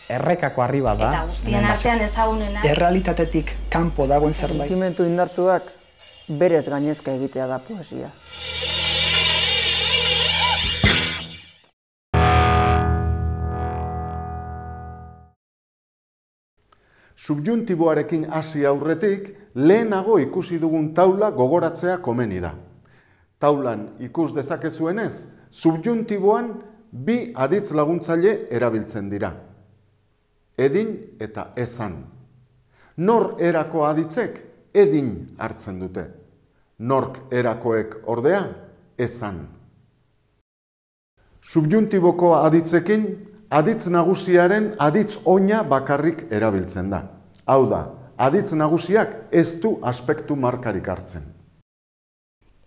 errekako arriba da. Eta guztien artean ezagunena. Errealitatetik kanpo dagoen zerbait. Sentimendu indartsuak berez gainezka egitea da poesia. Subjuntiboarekin hasi aurretik, lehenago ikusi dugun taula gogoratzea komeni da. Taulan ikus dezakezuenez, subjuntiboan bi aditz laguntzaile erabiltzen dira. Edin eta esan. Nor erako aditzek edin hartzen dute. Nork erakoek ordea esan. Subjuntiboko aditzekin, aditz nagusiaren aditz oina bakarrik erabiltzen da. Hau da, aditz nagusiak ez du aspektu markarik hartzen.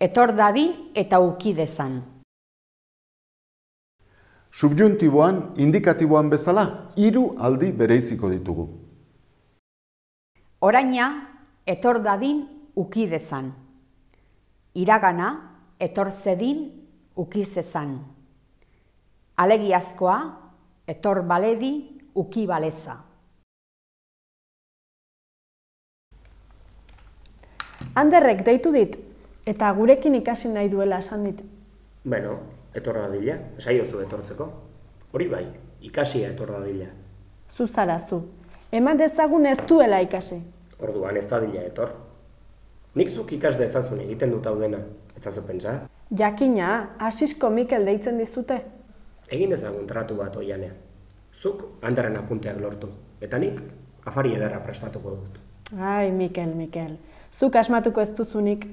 Etor dadin eta uki dezan. Subjuntiboan, indikatiboan bezala, 3 aldi bereiziko ditugu. Oraina, etor dadin uki dezan. Iragana, etor zedin uki zezan. Alegiazkoa, etor baledi uki baleza. Anderrek deitu dit, eta gurekin ikasi nahi duela esan dit. Bueno, etor dadila, esaiozu etortzeko. Hori bai, ikasia etor dadila. Zu zara zu, eman dezagun ez duela ikasi. Orduan ez dadila etor. Nik zuk ikas dezazun egiten dut hau dena, ez zazu pentsa? Jakina, Asisko Mikel deitzen dizute. Egin dezagun tratu bat oianean. Zuk Anderren apunteak lortu, eta nik afari ederra prestatuko dut. Ai, Mikel, zuk asmatuko ez duzunik.